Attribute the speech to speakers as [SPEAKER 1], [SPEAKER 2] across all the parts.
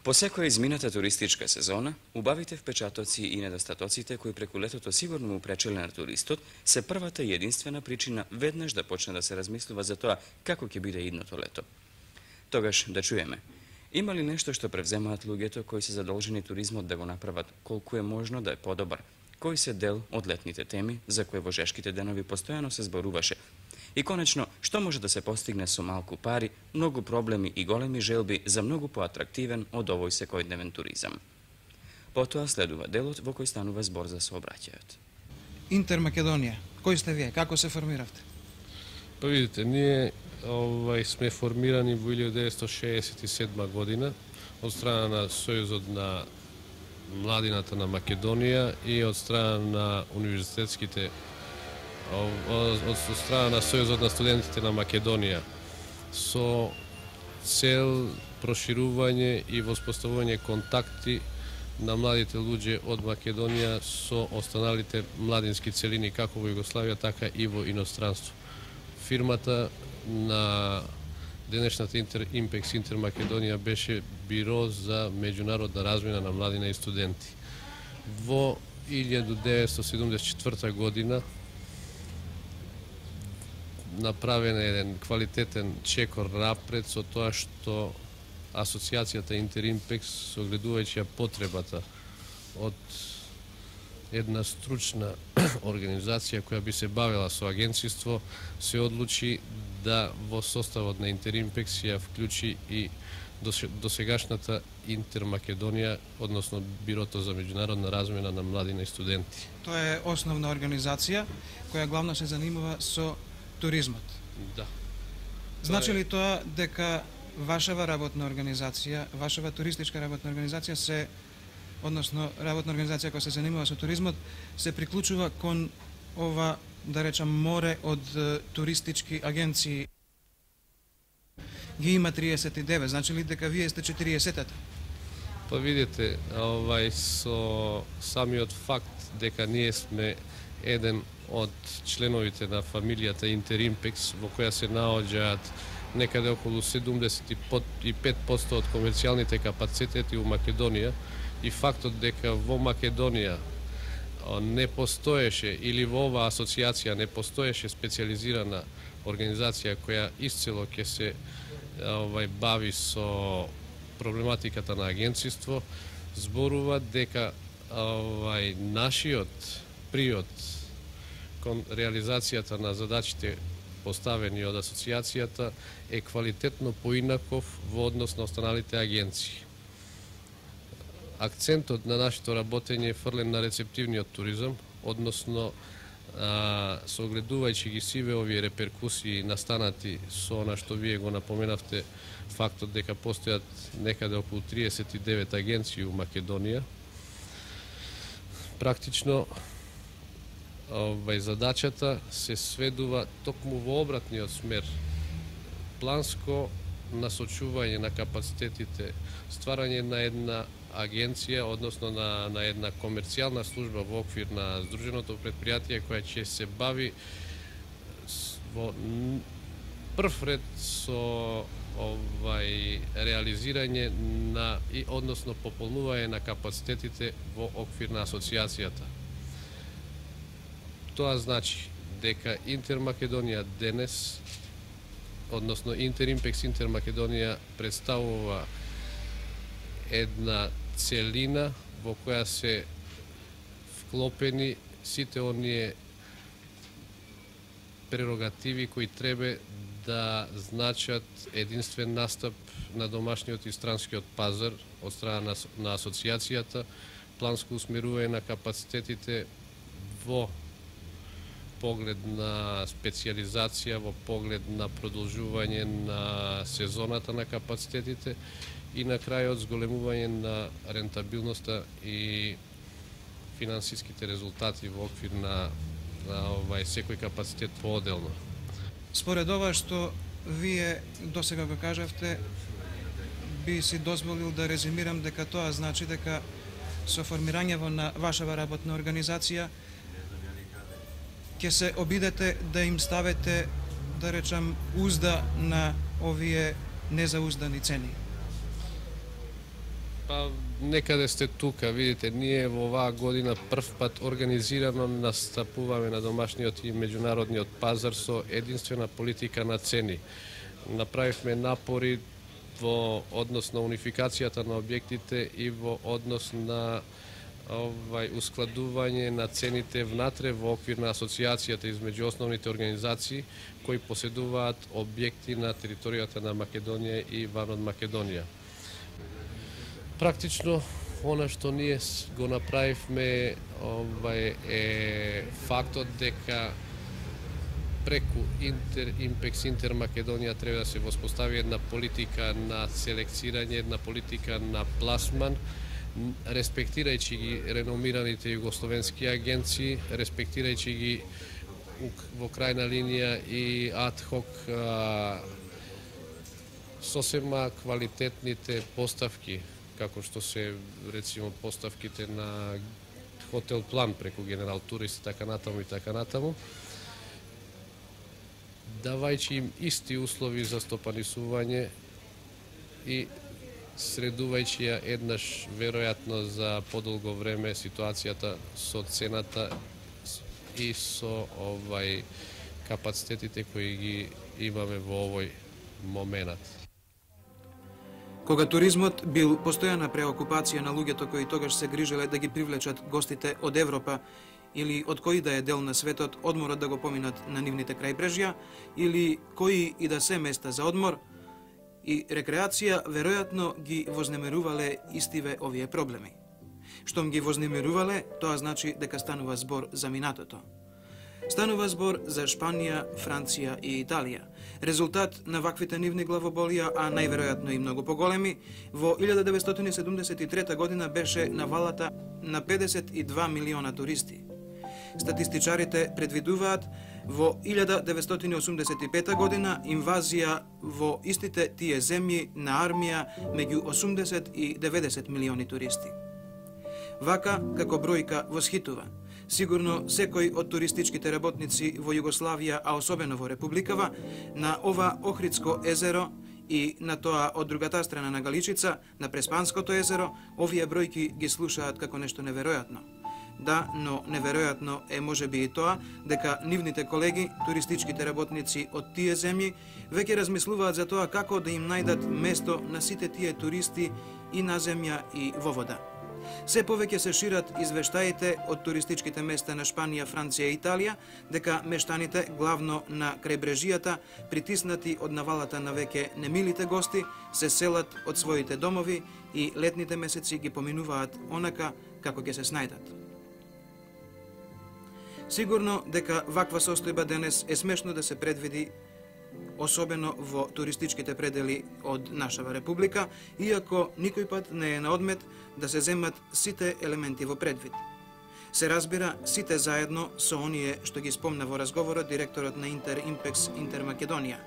[SPEAKER 1] По секоја измината туристичка сезона, убавите впечатоци и недостатоците кои преку летото сигурно му пречеле на туристот, се првата и единствена причина веднаш да почне да се размислува за тоа како ќе биде идното лето. Тогаш да чуеме, има ли нешто што превземаат луѓето кои се задолжени туризмот да го направат колку е можно да е подобар, кои се дел од летните теми за кои во жешките денови постојано се зборуваше? И конечно, што може да се постигне со малку пари, многу проблеми и големи желби за многу поатрактивен од овој секојдневен туризам. Потоа следува делот во кој станува збор за сообраќајот.
[SPEAKER 2] Интермакедонија, кој сте вие, како се формиравте?
[SPEAKER 3] Па видите, ние сме формирани во 1967 година од страна на Сојузот на младината на Македонија и од страна на универзитетските од страна на Сојузот на студентите на Македонија со цел проширување и воспоставување контакти на младите луѓе од Македонија со останалите младински целини како во Југославија, така и во иностранство. Фирмата на денешната Импекс Интермакедонија беше биро за меѓународна размена на младина и студенти. Во 1974 година направен еден квалитетен чекор напред со тоа што Асоциацијата Интеримпекс, согледувајќи потребата од една стручна организација која би се бавела со агенцијство, се одлучи да во составот на Интеримпекс ја вклучи и досегашната Интермакедонија, односно Бирото за меѓународна размена на младина и студенти.
[SPEAKER 2] Тоа е основна организација која главно се занимава со туризмот.
[SPEAKER 3] Да.
[SPEAKER 2] Значи ли тоа дека вашава работна организација, вашава туристичка работна организација се, односно работна организација која се занимава со туризмот, се приклучува кон ова, да речам, море од туристички агенции? Ги има 39, значи ли дека вие сте 40-та?
[SPEAKER 3] Па видите, со самиот факт дека ние сме еден од членовите на фамилијата Интеримпекс, во која се наоѓаат некаде околу 75% од комерцијалните капацитети во Македонија, и фактот дека во Македонија не постоеше, или во оваа асоциација не постоеше специализирана организација која исцело ќе се бави со проблематиката на агенцијство, зборува дека нашиот приот кон реализацијата на задачите поставени од асоциацијата е квалитетно поинаков во однос на останалите агенции. Акцентот на нашето работење е фрлен на рецептивниот туризам, односно согледувајќи ги сиве овие реперкусии настанати со она што вие го напоменавте, фактот дека постојат некаде околу 39 агенции у Македонија. Практично задачата се сведува токму во обратниот смер. Планско насочување на капацитетите, стварање на една агенција, односно на една комерцијална служба во оквир на Сдруженото предпријатие која ќе се бави во прв ред со реализирање на и односно пополнување на капацитетите во оквир на асоциацијата. Тоа значи дека Интермакедонија денес, односно Интеримпекс Интермакедонија представува една целина во која се вклопени сите оние прерогативи кои треба да значат единствен настап на домашниот и странскиот пазар од страна на асоциацијата, планско усмерување на капацитетите во поглед на специализација, во поглед на продолжување на сезоната на капацитетите и на крајот зголемување на рентабилноста и финансиските резултати во оквир на секој капацитет поотделно.
[SPEAKER 2] Според ова што вие досега го кажавте, би си дозволил да резимирам дека тоа значи дека со формирањето на вашава работна организација ќе се обидете да им ставите, да речам, узда на овие незауздани цени.
[SPEAKER 3] Па, некаде сте тука, видите, ние во оваа година прв пат организирано настапуваме на домашниот и меѓународниот пазар со единствена политика на цени. Направивме напори во однос на унификацијата на објектите и во однос на ускладување на цените внатре во оквир на асоциацијата измеѓу основните организации кои поседуваат објекти на територијата на Македонија и ван од Македонија. Практично, она што ние го направивме е фактот дека преку Импекс Интер Македонија треба да се воспостави една политика на селекцирање, една политика на пласман, респектирајќи ги реномираните југословенски агенции, респектирајќи ги во крајна линија и адхок сосема квалитетните поставки, како што се, рецимо, поставките на Хотел План преку Генерал Турист, така натаму и така натаму, давајќи им исти услови за стопанисување и средувајќи ја еднаш, веројатно, за подолго време ситуацијата со цената и со капацитетите кои ги имаме во овој момент.
[SPEAKER 2] Кога туризмот бил постојана преокупација на луѓето кои тогаш се грижеле да ги привлечат гостите од Европа или од кој да е дел на светот, одморот да го поминат на нивните крајбрежја, или кои и да се места за одмор и рекреација, веројатно ги вознемирувале истиве овие проблеми. Штом ги вознемирувале, тоа значи дека станува збор за минатото. Станува збор за Шпанија, Франција и Италија. Резултат на ваквите нивни главоболија, а најверојатно и многу поголеми, во 1973 година беше навалата на 52 милиона туристи. Статистичарите предвидуваат во 1985 година инвазија во истите тие земји на армија меѓу 80 и 90 милиони туристи. Вака, како бројка, восхитува. Сигурно секој од туристичките работници во Југославија, а особено во Републикава, на ова Охридско езеро и на тоа од другата страна на Галичица, на Преспанското езеро, овие бројки ги слушаат како нешто неверојатно. Да, но неверојатно е можеби и тоа дека нивните колеги, туристичките работници од тие земји, веќе размислуваат за тоа како да им најдат место на сите тие туристи и на земја и во вода. Се повеќе се шират извештаите од туристичките места на Шпанија, Франција и Италија, дека мештаните, главно на крајбрежијата, притиснати од навалата на веќе немилите гости, се селат од своите домови и летните месеци ги поминуваат онака како ќе се снајдат. Сигурно дека ваква состојба денес е смешно да се предвиди, особено во туристичките предели од нашава република, иако никој пат не е на одмет да се земат сите елементи во предвид. Се разбира сите заедно со оние што ги спомна во разговорот директорот на Импекс Интер Македонија.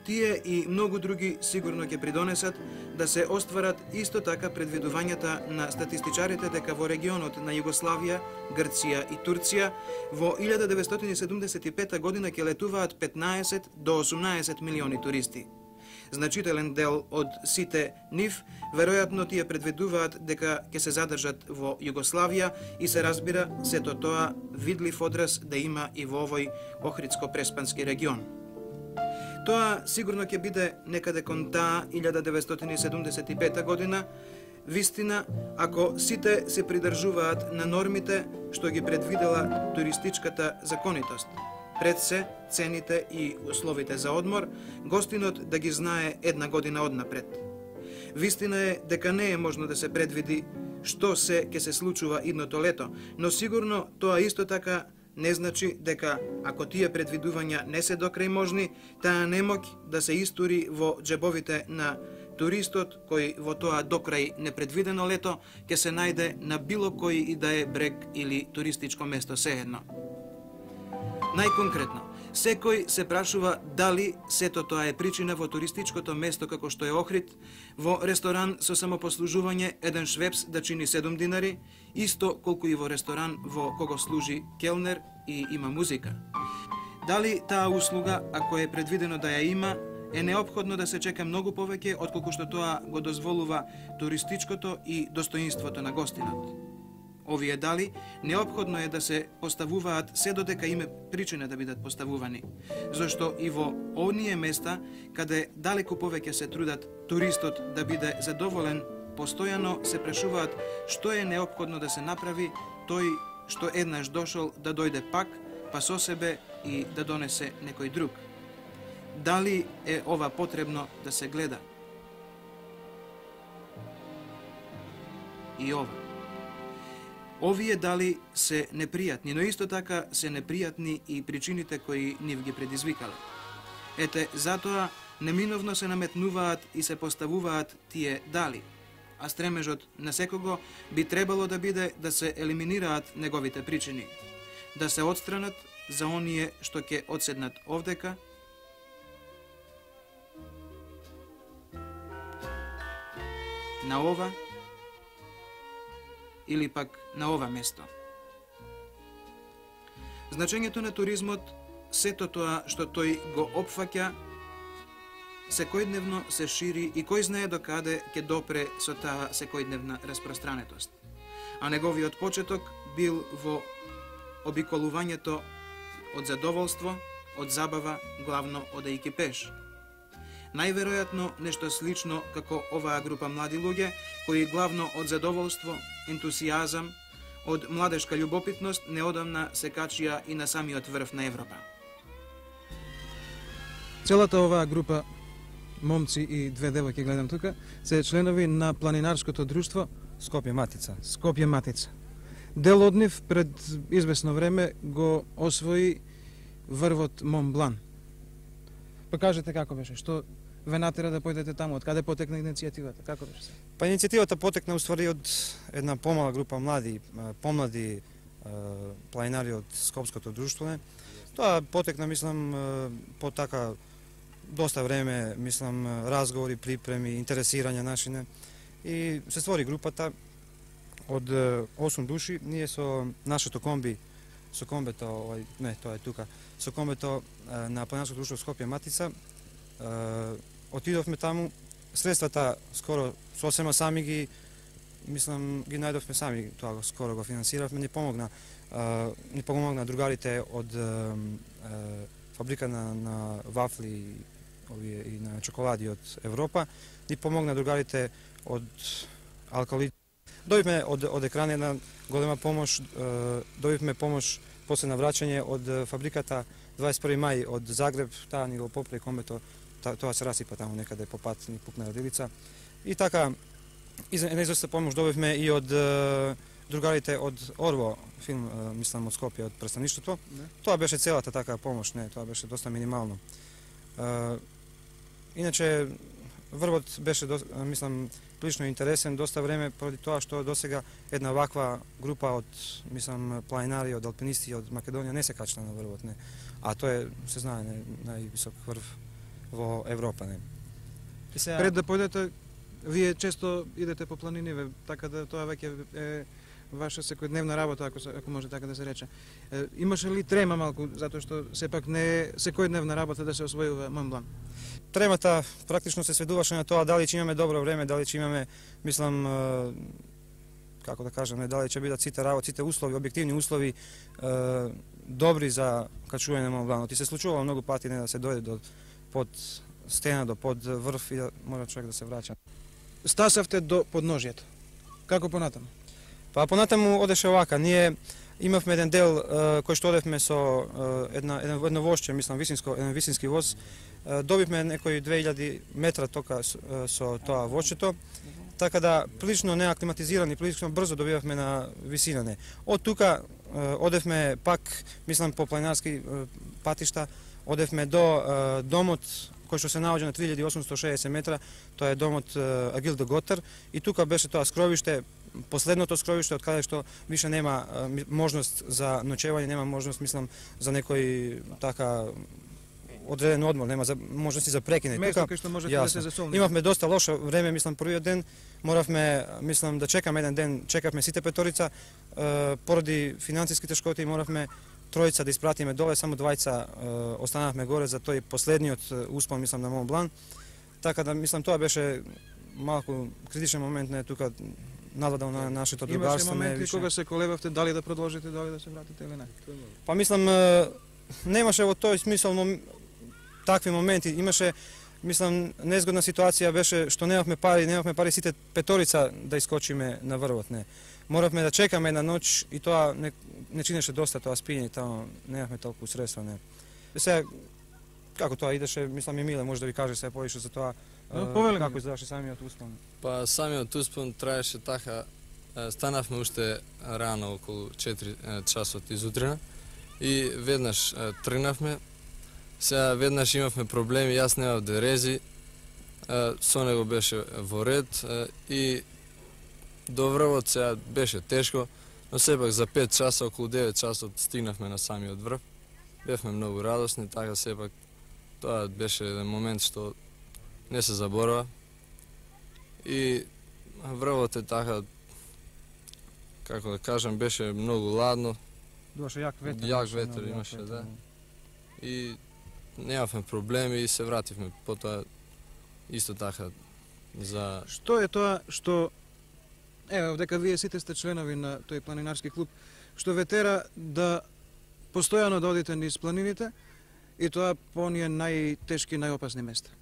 [SPEAKER 2] Тие и многу други сигурно ќе придонесат да се остварат исто така предвидувањата на статистичарите дека во регионот на Југославија, Грција и Турција во 1975 година ќе летуваат 15 до 18 милиони туристи. Значителен дел од сите нив, веројатно тие предвидуваат дека ќе се задржат во Југославија и се разбира сето тоа видлив одраз да има и во овој Охридско-преспански регион. Тоа сигурно ќе биде некаде кон таа 1975 година, вистина ако сите се придржуваат на нормите што ги предвидела туристичката законитост. Пред се, цените и условите за одмор, гостинот да ги знае една година однапред. Вистина е дека не е можно да се предвиди што се ќе се случува идното лето, но сигурно тоа исто така не значи дека ако тие предвидувања не се докрај можни, таа немоќ да се истури во џебовите на туристот кој во тоа докрај непредвидено лето ќе се најде на било кој и да е брег или туристичко место сеедно. Најконкретно, секој се прашува дали сето тоа е причина во туристичкото место како што е Охрид, во ресторан со самопослужување еден швепс да чини 7 динари, исто колку и во ресторан во кого служи келнер и има музика. Дали таа услуга, ако е предвидено да ја има, е неопходно да се чека многу повеќе отколку што тоа го дозволува туристичкото и достоинството на гостинот. Овие дали неопходно е да се поставуваат се додека име причина да бидат поставувани, зашто и во оние места каде далеку повеќе се трудат туристот да биде задоволен, постојано се прашуваат што е неопходно да се направи тој што еднаш дошол да дојде пак, па со себе и да донесе некој друг. Дали е ова потребно да се гледа? И ова. Овие дали се непријатни, но исто така се непријатни и причините кои нив ги предизвикале. Ете, затоа неминовно се наметнуваат и се поставуваат тие дали, а стремежот на секого би требало да биде да се елиминираат неговите причини, да се отстранат за оние што ќе одседнат овдека, на ова или пак на ова место. Значењето на туризмот, сето тоа што тој го опфаќа, секојдневно се шири и кој знае до каде ќе допре со таа секојдневна распространетост. А неговиот почеток бил во обиколувањето од задоволство, од забава, главно одејќи пеш. Најверојатно нешто слично како оваа група млади луѓе, кои главно од задоволство, ентусијазам, од младешка љубопитност неодамна се качија и на самиот врв на Европа. Целата оваа група момци и две девојки гледам тука се членови на планинарското друштво
[SPEAKER 4] Скопје Матица.
[SPEAKER 2] Скопје Матица. Дел од нив пред известно време го освои врвот Монблан. Па кажете како беше, што ве натера да појдете таму, од каде потекна иницијативата, како беше?
[SPEAKER 4] Па иницијативата потекна уствари од една помала група млади, помлади планинари од Скопското друштво. Тоа потекна, мислам, по така доста време, мислам, разговори, припреми, интересирање нашине и се створи групата од 8 души. Ние со нашето комби, со комбето, не, тоа е тука, со комбето на планинарското друштво Скопје Матица, отидовме таму. Средствата скоро сосема сами ги, мислам, ги најдовме сами, тоа скоро го финансиравме. Ни помогна другарите од фабрика на вафли и на чоколади од Европа. Ни помогна другарите од алкалит. Добивме од екран една голема помош, добивме помош после на враќање од фабриката 21. мај од Загреб, таа ни го попре комбето, тоа се расипа таму некаде по пат, ни пукна родилица. И така, една известна помош добивме и од другарите од Орво филм, мислам, од Скопје, од престаништото. Тоа беше целата така помош, не, тоа беше доста минимално. Иначе, врвот беше, мислам, прилично интересен доста време, поради тоа што досега една ваква група од, мислам, планинари, од алпинисти од Македонија не се качна на врвот, не. А тоа е, се знае, највисок врв во Европа, не.
[SPEAKER 2] Пред да појдете, вие често идете по планини, така да тоа веќе е ваша секојдневна работа, ако може така да се рече. Имаше ли трема малку, затоа што сепак не е секојдневна работа да се освојува Монблан?
[SPEAKER 4] Тремата практично се сведуваше на тоа дали ќе имаме добро време, дали ќе имаме, мислам, како да кажам, дали ќе бидат сите работи, сите услови, објективни услови добри за качување на Монбланот. И се случувало многу пати не да се дојде до под стена, до под врв и да мора човек да се враќа.
[SPEAKER 2] Стасавте до подножјето. Како понатаму?
[SPEAKER 4] Па понатаму одеше овака. Ние имавме еден дел кој што одевме со едно возче, мислам, еден висински воз. Добивме некои 2000 метра тока со тоа возчето, така да прилично неаклиматизирани, прилично брзо добивавме на висина. Од тука одевме пак, мислам, по планинарски патишта, одевме до домот кој што се наоѓа на 3860 метра, тоа е домот Агил де Готер, и тука беше тоа скровиште, последното скровиште од каде што више нема можност за ноќевање, нема можност, мислам, за некој така одреден одмор, нема можности за прекине.
[SPEAKER 2] Место кај што можете да се засолните.
[SPEAKER 4] Имавме доста лошо време, мислам, првиот ден моравме, мислам, да чекаме еден ден, чекавме сите петорица, поради финансиски тешкоти моравме тројца да испратиме доле, само двајца останавме горе за тој последниот успон, мислам, на Мон Блан. Така да, мислам, тоа беше малку критичен момент, не тука нададал на нашето другарство.
[SPEAKER 2] Имаше моменти кога се колебавте дали да продолжите, дали да се вратите или не?
[SPEAKER 4] Па мислам, немаше во тој смисол такви моменти. Имаше, мислам, незгодна ситуација беше што немавме пари сите петорица да искочиме на врвот, не. Моравме да чекаме една ноќ и тоа не чинеше доста тоа спиење, таму немавме толку средства, не. Сега, како тоа идеше, мислам и Миле може да ви каже сега повише за тоа, како изгледаше самиот успон.
[SPEAKER 5] Па самиот успон траеше така, станавме уште рано, околу 4 часот изутрина и веднаш тргнавме. Сега веднаш имавме проблеми, јас немав дерези, со него беше во ред и до врвот сега беше тешко, но сепак за 5 часа, околу 9 часот стигнавме на самиот врв. Бевме многу радосни, така сепак тоа беше еден момент што не се заборава. И врвот е така, како да кажам, беше многу ладно.
[SPEAKER 4] Имаше јак ветер.
[SPEAKER 5] Јак ветер имаше, да. И немавме проблеми и се вративме потоа исто така за...
[SPEAKER 2] Што е тоа што, еве, дека вие сите сте членови на тој планинарски клуб, што ве тера да постојано да одите низ планините и тоа по оние најтешки, најопасни места?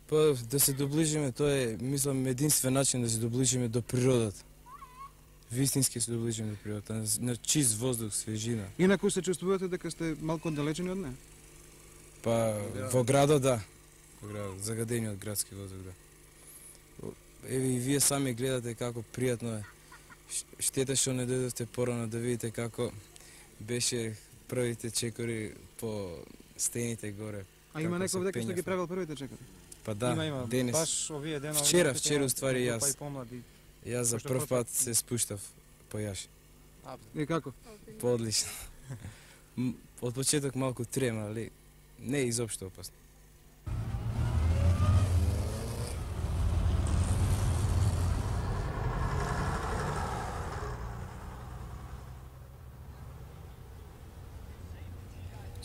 [SPEAKER 6] Па да се доближиме, тоа е, мислам, единствен начин да се доближиме до природата. Вистински се доближиме до природата, на чист воздух, свежина.
[SPEAKER 2] Инаку се чувствувате дека сте малку оддалечени од неа?
[SPEAKER 6] Па во градот, да. Во градот, загадени од градски воздух, да. Еве и вие сами гледате како пријатно е. Штета што не дојдовте порано да видите како беше првите чекори по стените горе.
[SPEAKER 2] А има некој дека што ги правил првите чекори?
[SPEAKER 6] Па да,
[SPEAKER 4] има,
[SPEAKER 6] денес.
[SPEAKER 4] Баш овие денови.
[SPEAKER 6] Вчера уствари јас. Јас за прв пат се спуштав по јаш.
[SPEAKER 2] И како?
[SPEAKER 6] Поодлично. Од почеток малку трема, али не е изопшто опасно.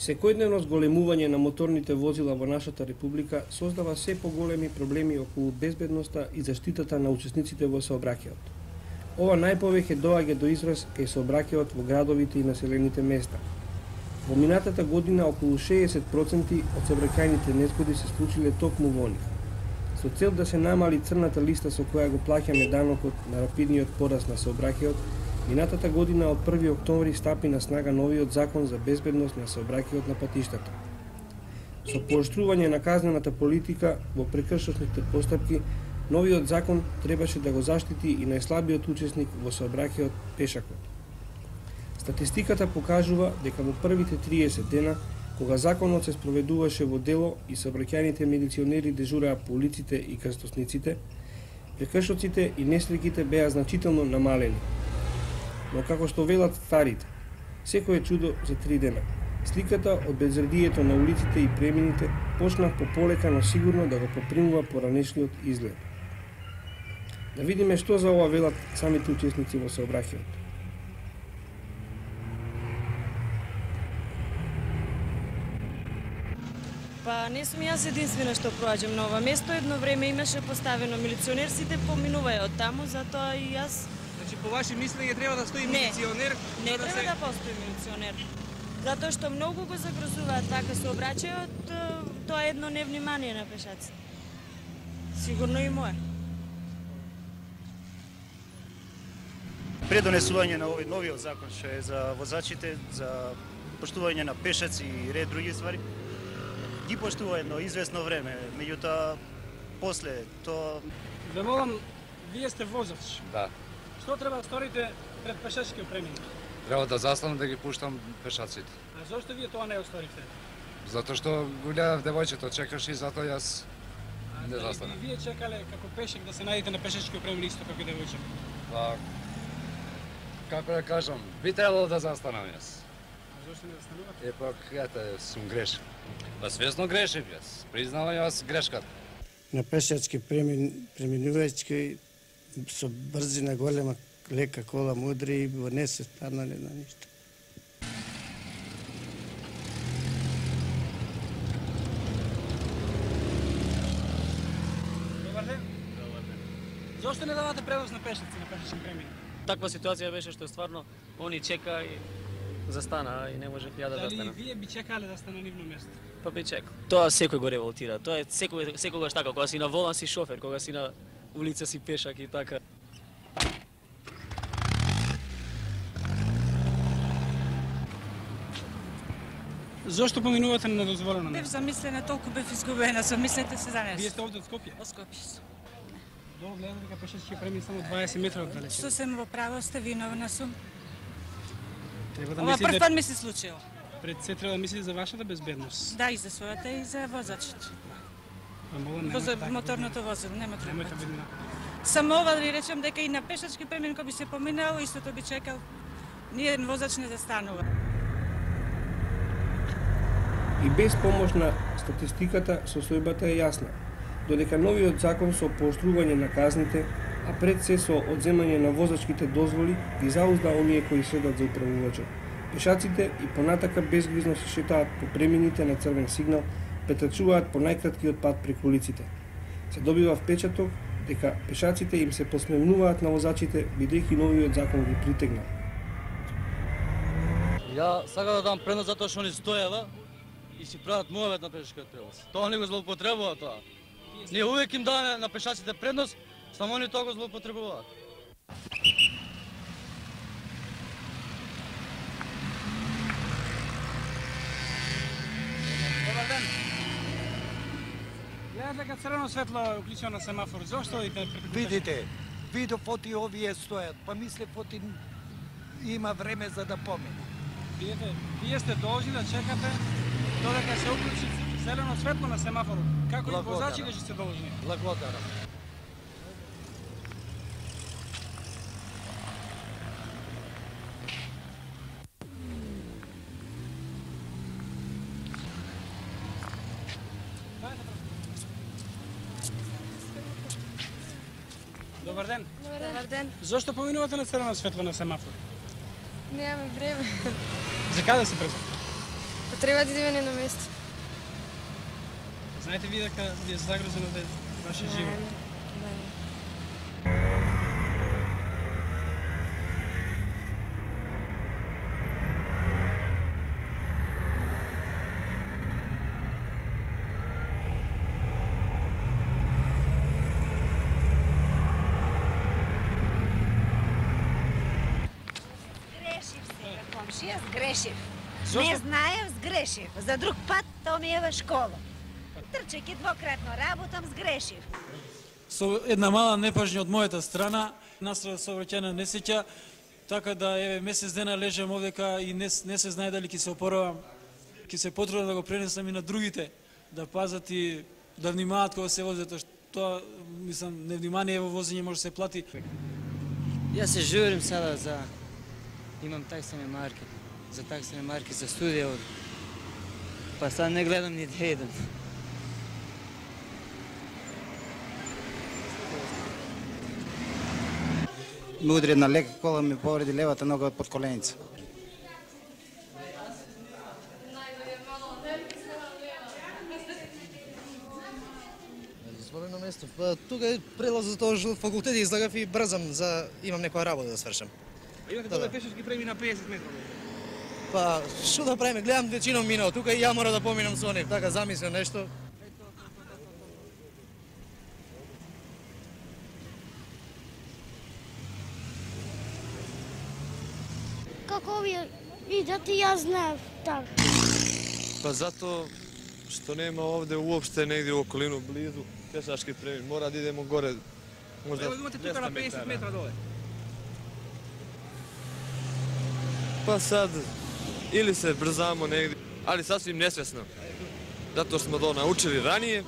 [SPEAKER 7] Секојдневно зголемување на моторните возила во нашата република создава се поголеми проблеми околу безбедноста и заштитата на учесниците во сообраќајот. Ова најповеќе доаѓа до израз кај сообраќајот во градовите и населените места. Во минатата година околу 60% од сообраќајните незгоди се случиле токму во нив. Со цел да се намали црната листа со која го плаќаме данокот на рапидниот пораст на сообраќајот, минатата година од 1 октомври стапи на снага новиот закон за безбедност на сообраќајот на патиштата. Со пооштрување на казнената политика во прекршочните постапки, новиот закон требаше да го заштити и најслабиот учесник во сообраќајот пешакот. Статистиката покажува дека во првите 30 дена, кога законот се спроведуваше во дело и сообраќајните милиционери дежураа по улиците и крстосниците, прекршоците и несреќите беа значително намалени. Но како што велат старите, секој е чудо за 3 дена. Сликата од безредието на улиците и премините почна пополека, но сигурно да го попримува поранешниот изглед. Да видиме што за ова велат самите учесници во сообраќајот.
[SPEAKER 8] Па не сум јас единствена што проаѓам на ова место. Едно време имаше поставено милиционер, сите поминуваја од таму, затоа и јас...
[SPEAKER 2] Значи, по ваши мислење треба да стои милиционер?
[SPEAKER 8] Не треба да постои милиционер. Затоа што многу го загрозуваат вака сообраќајот, тоа е едно невнимание на пешаците. Сигурно и мое.
[SPEAKER 9] Пред донесување на овој новиот закон што е за возачите, за поштување на пешаци и ред други ствари, ги поштува едно известно време, меѓутоа после тоа...
[SPEAKER 10] Ве молам, вие сте возач.
[SPEAKER 11] Да.
[SPEAKER 10] Што треба да сторите пред пешачкиот премин?
[SPEAKER 11] Треба да застанам да ги пуштам пешаците.
[SPEAKER 10] А зошто вие тоа не осторите?
[SPEAKER 11] Затоа што го гледав девојчето, чекаш и затоа јас не застанам.
[SPEAKER 10] Вие чекале како пешек да се најдете на пешачкиот премин исто како девојче?
[SPEAKER 11] Па, како да кажам, би требало да застанам јас.
[SPEAKER 10] А зошто не застанувате?
[SPEAKER 11] Епак, ете, сум грешен. Па свесно грешив јас, признавам јас грешката.
[SPEAKER 12] На пешачки преминувајќи со брзина голема
[SPEAKER 7] лека кола, мудри, не се спаднале на ништо.
[SPEAKER 10] Добар ден. Зошто не давате превоз на пешаци, на пешачки премини?
[SPEAKER 12] Таква ситуација беше што стварно они чека и застана и не можех ја да
[SPEAKER 10] Дали
[SPEAKER 12] застана.
[SPEAKER 10] вие би чекале да сте на нивно место?
[SPEAKER 12] Па би чекал. Тоа секој го револтира. Тоа е секогаш така, кога си на волан си шофер, кога си на улица си пешак и така.
[SPEAKER 10] Зошто поминувате на недозволено
[SPEAKER 13] Бев
[SPEAKER 10] место?
[SPEAKER 13] замислена, толку бев изгубена, замислете се за
[SPEAKER 10] Вие
[SPEAKER 13] нешто.
[SPEAKER 10] сте овде од Скопје?
[SPEAKER 13] Од Скопје сум.
[SPEAKER 10] Долу гледате дека пешачки премин само 20 метра од далечина.
[SPEAKER 13] Сосем во право сте, виновна сум.
[SPEAKER 10] Треба да
[SPEAKER 13] Ова
[SPEAKER 10] мислите
[SPEAKER 13] прв пат ми се случило.
[SPEAKER 10] пред се треба да мислите за вашата безбедност.
[SPEAKER 13] Да, и за својата и за возачот.
[SPEAKER 10] Па мога нема
[SPEAKER 13] Воза
[SPEAKER 10] така.
[SPEAKER 13] моторното возило, нема друг
[SPEAKER 10] Немојте
[SPEAKER 13] пат.
[SPEAKER 10] бедина.
[SPEAKER 13] Само ова да ви речем дека и на пешачки премин кој би се поминал, истото би чекал. Ниједен возач не застанува.
[SPEAKER 7] И без помош на статистиката, состојбата е јасна. Додека новиот закон со пооштрување на казните, а пред се со одземање на возачките дозволи, ги заузда оние кои следат за управувачот. Пешаците и понатака безгрижно се шетаат по премините на црвен сигнал, претрчуваат по најкраткиот пат преку улиците. Се добива впечаток дека пешаците им се посмевнуваат на возачите, бидејќи новиот закон ги притегна.
[SPEAKER 14] Ја сакам да дам предност затоа што они стоева и си прават муавет на пешачкиот превоз. Тоа не го злоупотребува тоа. Ние увек им даваме на пешаците предност, само они тоа го злоупотребуваат.
[SPEAKER 10] Добар ден. Гледате дека црвено светло е уклучено на семафор. Зошто одите преку?
[SPEAKER 15] Видите, видов оти овие стојат, па мислев оти има време за да помине.
[SPEAKER 10] Видите, вие сте должни да чекате додека се уклучи зелено светло на семафорот. Како и возачите што се должни.
[SPEAKER 14] Благодарам.
[SPEAKER 10] Добар ден.
[SPEAKER 16] Добар ден.
[SPEAKER 10] Зошто поминувате на црвено светло на семафор?
[SPEAKER 16] Немаме време.
[SPEAKER 10] За каде се брза?
[SPEAKER 16] Потреба да идеме на место.
[SPEAKER 10] Знаете ви дека ви е загрозено да вашиот живот?
[SPEAKER 17] Комшија, сгрешив. Не знаев, сгрешив. За друг пат тоа ми е во школа. Трчејќи двократно работам, сгрешив.
[SPEAKER 18] Со една мала непажња од мојата страна, настрадав сообраќајна несреќа, така да еве месец дена лежам овдека и не се знае дали ќе се опоравам. Ќе се потрудам да го пренесам и на другите, да пазат и да внимаваат кога се возат, тоа мислам невнимание во возење може да се плати.
[SPEAKER 19] Јас се журим сега за имам таксени марки, за таксени марки за студија од. Па сега не гледам ни да едам.
[SPEAKER 20] Ме удри една лека кола, ми повреди левата нога од подколеница.
[SPEAKER 21] Дозволено место. Тука е прелаз за тоа што факултет излагав и брзам за имам некоја работа да свршам.
[SPEAKER 10] Имате доле пешачки премини на 50 метра.
[SPEAKER 21] Па, што да правиме? Гледам вечином минал тука и ја мора да поминам со нив, така замислам нешто.
[SPEAKER 22] Како овие идат и јас знаев така.
[SPEAKER 23] Па затоа што нема овде уопште негде у околину близу пешачки премин. Мора да идемо горе. Можда
[SPEAKER 10] Ево имате тука на 50 метра доле.
[SPEAKER 23] Па сад или се брзамо негде, али сасвим несвесно. Затоа смо тоа научили ранije.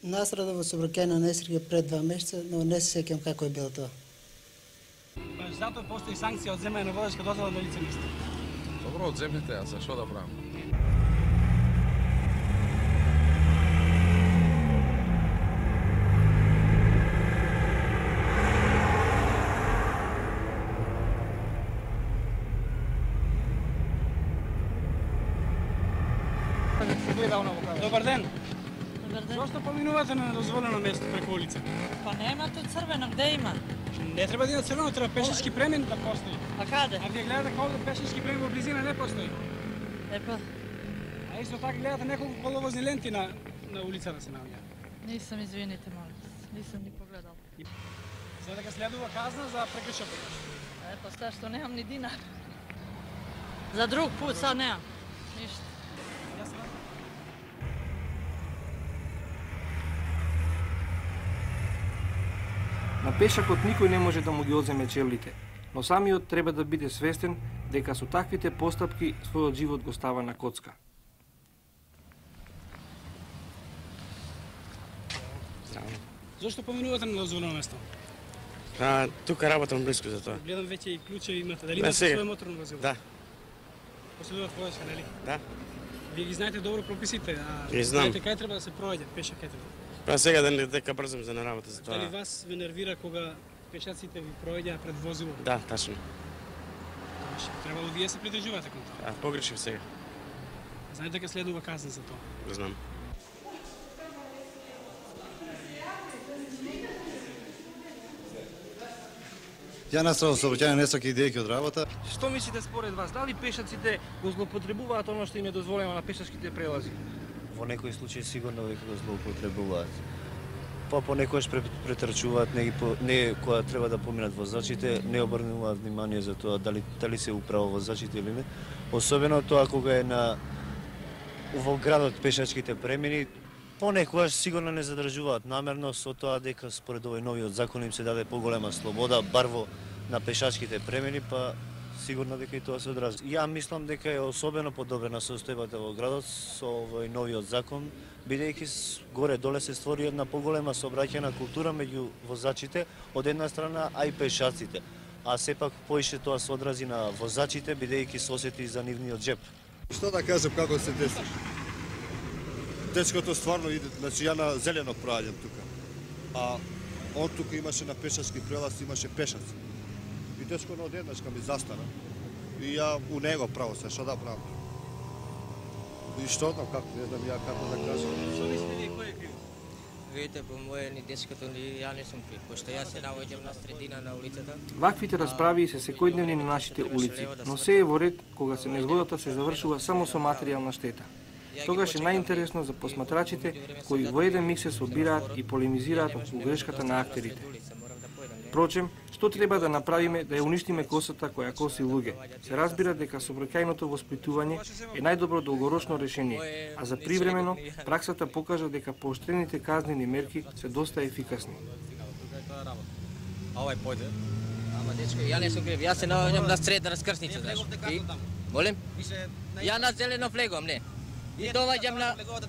[SPEAKER 24] Настрадав во сообраќајна несреќа пред 2 месеца, но не се сеќам како е било тоа.
[SPEAKER 10] Па затоа постои санкција од земање на возачка дозвола на лице место.
[SPEAKER 3] Добро, одземете ја, за што да правам?
[SPEAKER 10] се гледа оно во кај. Добар ден.
[SPEAKER 1] Добар ден.
[SPEAKER 10] Зошто поминувате на недозволено место преку улица?
[SPEAKER 1] Па нема тут црвено, где има?
[SPEAKER 10] Не треба да има црвено, треба пешачки премин да постои.
[SPEAKER 1] А каде?
[SPEAKER 10] А вие гледате колку пешачки премин во близина не постои.
[SPEAKER 1] Епа.
[SPEAKER 10] А исто така гледате неколку коловозни ленти на улицата се наоѓа.
[SPEAKER 1] Нисам, извините, молам. Нисам ни погледал.
[SPEAKER 10] За дека следува казна за прекршок.
[SPEAKER 1] Епа, ста што немам ни динар. За друг пут, сад немам. Ништо.
[SPEAKER 7] На пешакот никој не може да му ги одземе чевлите, но самиот треба да биде свестен дека со таквите постапки својот живот го става на коцка.
[SPEAKER 10] Зошто поминувате на недозволено место?
[SPEAKER 4] Тука работам близко за тоа.
[SPEAKER 10] Гледам веќе и клучеви имате. Дали имате своје моторно возило?
[SPEAKER 4] Да.
[SPEAKER 10] Поседуват војска, нели?
[SPEAKER 4] Да.
[SPEAKER 10] Вие ги знаете добро прописите,
[SPEAKER 4] Ги знам.
[SPEAKER 10] знаете кај треба да се проаѓа, пеша кај треба.
[SPEAKER 4] Па сега дека брзам за на работа за тоа.
[SPEAKER 10] Дали вас ве нервира кога пешаците ви проаѓаа пред возило?
[SPEAKER 4] Да, тачно.
[SPEAKER 10] Требало вие се придржувате кон тоа.
[SPEAKER 4] Погрешив сега.
[SPEAKER 10] Знаете дека следува казна за тоа?
[SPEAKER 4] Го знам.
[SPEAKER 5] Ја настрано сообраќање несаки идејки од работа.
[SPEAKER 7] Што мислите според вас, дали пешаците го злоупотребуваат оно што им е дозволено на пешачките прелази?
[SPEAKER 6] Во некои случаи сигурно дека го злоупотребуваат. Па понекогаш претрчуваат, не кога треба да поминат возачите, не обрнуваат внимание за тоа дали се управо возачите или не. Особено тоа кога е во градот пешачките премини, понекогаш сигурно не задржуваат намерно со тоа дека според овој новиот закон им се даде поголема слобода, бар на пешачките премини, па сигурно дека и тоа се одрази. Ја мислам дека е особено подобрена состојбата во градот со овој новиот закон, бидејќи горе-доле се створи една поголема сообраќајна култура меѓу возачите од една страна, а и пешаците. А сепак поише тоа се одрази на возачите, бидејќи се осети за нивниот џеп.
[SPEAKER 5] Што да кажам како се деси? Дечкото стварно иде, значи ја на зелено проаѓам тука. А он тука имаше на пешачки прелаз, имаше пешаци. И дечко на одеднаш ми застана. И ја у него право се, што да правам? И што знам како, не знам ја како да кажам.
[SPEAKER 25] Што мислите вие кој е крив? Видите, по моје ни дечкото ни ја не сум крив, пошто јас се наоѓам на средина на улицата.
[SPEAKER 7] Ваквите расправи се секојдневни на нашите улици, но се е во ред кога се незгодата се завршува само со материјална штета. Тогаш е најинтересно за посматрачите кои во еден миг се собираат и полемизираат околу грешката на актерите. Впрочем, што треба да направиме да ја уништиме косата која коси луѓе? Се разбира дека сообраќајното воспитување е најдобро долгорочно решение, а за привремено праксата покажа дека поощрените казнени мерки се доста ефикасни.
[SPEAKER 25] А овај појде? Ама дечко, ја не сум крив, јас се наоѓам на средна раскрсница, знаеш. Молим? Ја на зелено влегувам, не. И доваѓам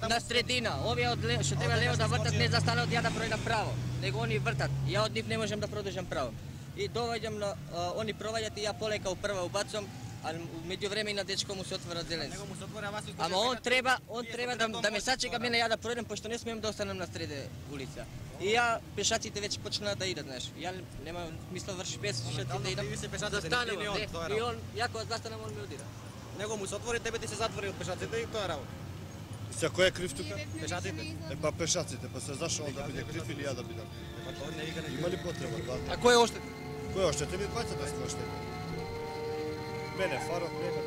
[SPEAKER 25] на средина. Овие што треба лево да вртат не застанат ја да пројдам право, него они вртат. Ја од нив не можам да продолжам право. И доваѓам на они проваѓаат и ја полека прва убацам, а меѓувреме и на дечко му се отвора зелен. Ама он треба да ме сачека мене ја да пројдам, пошто не смеам да останам на среде улица. И ја пешаците веќе почнаа да идат, знаеш. Ја нема мисла врши пешаците да идам. Застанувам, и он ја кога застанам он ме удира.
[SPEAKER 26] Него му се отвори, тебе ти се затвори од пешаците и тоа е работа.
[SPEAKER 5] Се кој е крив тука?
[SPEAKER 26] Пешаците.
[SPEAKER 5] Па пешаците, па се зашо он да биде крив или ја да бидам? Има ли потреба тоа?
[SPEAKER 26] А кој е оштетен?
[SPEAKER 5] Кој е оштетен? Ми двајцата сме оштетени. Мене, фарот, нема.